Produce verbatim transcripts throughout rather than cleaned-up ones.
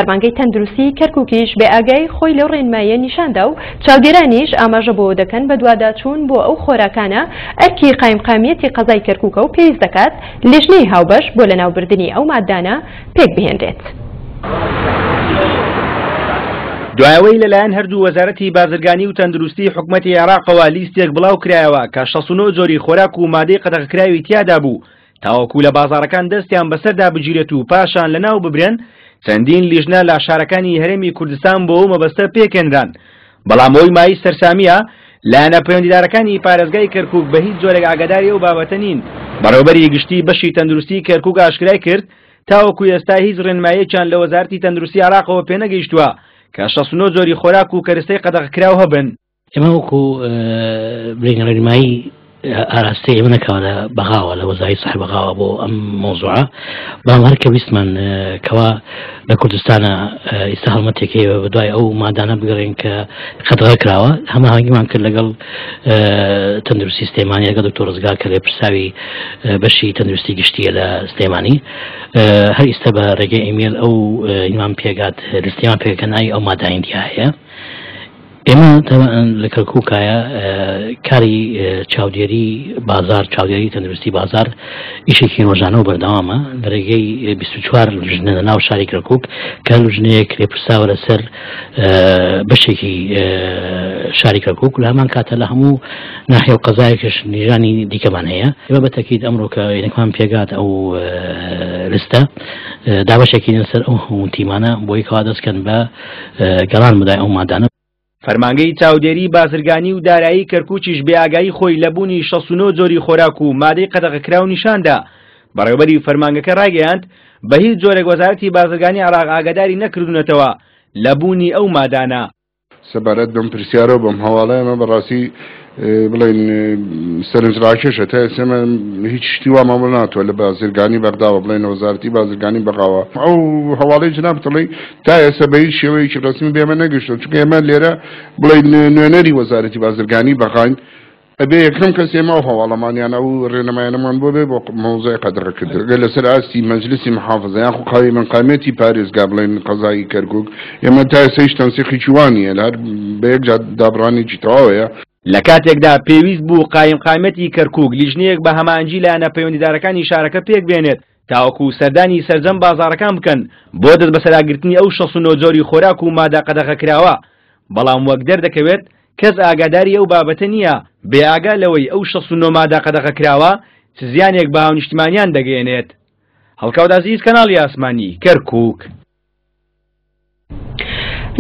فەرمانگەی تەندروستی کەرکووکیش بێ ئاگای خۆی لەو ڕێنماییە نیشاندا و چاودێرانیش ئاماژە بۆ دەکەن بەدواداچوون بۆ ئەو خۆراکانە ئەرکی قایمقامیەتی قەزای کەرکووکە و پێویست دەکات لیژنەی هاوبەش بۆ لەناوبردنی ئەو مادانە پێک بهێنرێت. دوایەوەی لەلایەن هەردوو وەزارەتی بازرگانی و تەندروستی حکومەتی عێراقەوە لیستێک بڵاو کرایەوە کە شەست و نۆ جۆری خۆراک و مادەی قەدەغەکراوی تیادا بوو تاوەکو لە بازاڕەکان دەستیان بەسەردا بگیرێت و پاشان لەناو ببرێن، چەندین لیژنە لە شارەکانی هەرێمی کوردستان بۆ ئەو مەبەستە پێکێنران. بەڵام ئەوەی مایەی سەرسامیە لایەنە پەیوەندیدارەکانی پارێزگای کەرکوک بە هیچ جۆرێک ئاگاداری ئەو بابەتە نین. بەڕێوەبەری گشتی بەشی تەندروستی کەرکوک ئاشکرای کرد تاوەکو ئێستا هیچ ڕێنماییەکیان لە وەزارەتی تەندروستی عێراقەوە پێنەگەیشتووە کە شەست و نۆ جۆری خۆراک و کەرستەی قەدەغەکراو هەبن. ئێمە وەکو بڵێین ڕێنمایی ئاراستەی ئێمە نەکەوە لە بەغاوە لە وەزاری سەحر بەغاوە بۆ ئەم مۆزوعە، بەڵام هەر کە ویستمان کەوا لە کوردستانە ئێستا هەڵمەتێک هەیە بە دوای ئەو مادانە بگەڕێن کە قەدەغە کراوە، هەماهەنگیمان کرد لەگەڵ تەندروستی سلێمانی لەگەڵ دکتۆر ڕزگار کە لێپرساوی بەشی تەندروستی گشتیە لە سلێمانی. هەر ئێستا بە ڕێگەی ئیمێل ئەو ئیمان پێگات لستیمان پێکە ناوی ئەو مادانەی تیا هەیە. ئێمە لە کەرکووکایە کاری چاودێری بازار، چاودێری تەندروستی بازار ئیشێکی ڕۆژانە و بەردەوامە لە ڕێگەی بیست و چوار لژنە لە ناو شاری کەرکووک کە لژنەیەک لێپرساوە لەسەر بەشێکی شاری کەرکووک، لە هەمان کاتە لە هەموو ناحیە و قەزایەکش نیژانی دیکەمان هەیە. ئێمە بە تەکید ئەمڕۆ کە یەکمان پێگات ئەو لستە دابەشێکی لەسەر ئەو هەموو تیمانە بۆی کەوا دەستکەن بە گەڕان بەدای ئەو مادانە. فەرمانگەی چاودێری بازرگانی و دارایی کەرکووکیش بێئاگایی خۆی لە بوونی شەست و نۆ جۆری خۆراک و مادەی قەدەغەکراو نیشاندا. بەڕێوەبەری فەرمانگەکە ڕایگەیاند بە هیچ جۆرێک وەزارەتی بازرگانی عێراق ئاگاداری نەکردوونەتەوە لە بوونی ئەو مادانە. سەبارەت بەم پرسیارە و بەم هەواڵە ئێمە بەڕاستی بڵێن سەرنجڕاکێشە. تا ئێستا ئێمە هیچ شتی وامان بۆ ناتوە لە بازرگانی بەغداوە بڵێن لە وەزارەتی بازرگانی بەغاوە. ئەو هەواڵەی جنابت بڵێ تا ئێستا بە هیچ شێوەیەکی ڕەسمی بێمە نەگەشتووە، چونکە ئێمە لێرە بڵێن نوێنەری وەزارەتی بازرگانی بەغاین، ئەبێ یەکەم کەس ئێمە ئەو هەواڵەمانیان ئەو ڕێنمایانەمان بۆ بێ بۆ مەوزوعی قەدەغەکردن. ئەگەر لەسەر ئاستی مەجلسی محافظە یاخو قایمقامیەتی پارێزگا بڵێن قەزایی کەرکوک، ئێمە تا ئێستا هیچ تەنسیقێکی وا نییە، لە هەر بە یەک جار دابڕانێکی تەواوەیە. لە کاتێکدا پێویست بوو قایمقامیەتی کەرکوک لیژنەیەک بە هەماهەنگی لایەنە پەیوەندیدارەکانی شارەکە پێک بێنێت تاوەکو سەردانی سەرجەم بازاڕەکان بکەن بۆ دەست بەسەراگرتنی ئەو شەست و نۆ جۆری خۆراک و مادە قەدەغەکراوە، بەڵام وەک دەردەکەوێت کەس ئاگاداری ئەو بابەتە نییە، بێئاگا لەوەی ئەو شەست و نۆ مادە قەدەغەکراوە چ زیانێک بە هاونیشتیمانیان دەگەیەنێت. هەڵکەوت عەزیز، کەناڵی ئاسمانی، کەرکوک.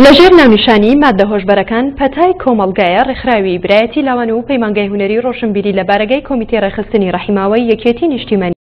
لەژێر ناونیشانی مادە هۆشبەرەکان پەتای کۆمەڵگایە ڕێکخراوی برایەتی لاوان و پەیمانگای هونەری ڕۆشنبیری لە بارەگای کۆمیتەی ڕێکخستنی ڕەحیماوەی یەکێتی نیشتیمانی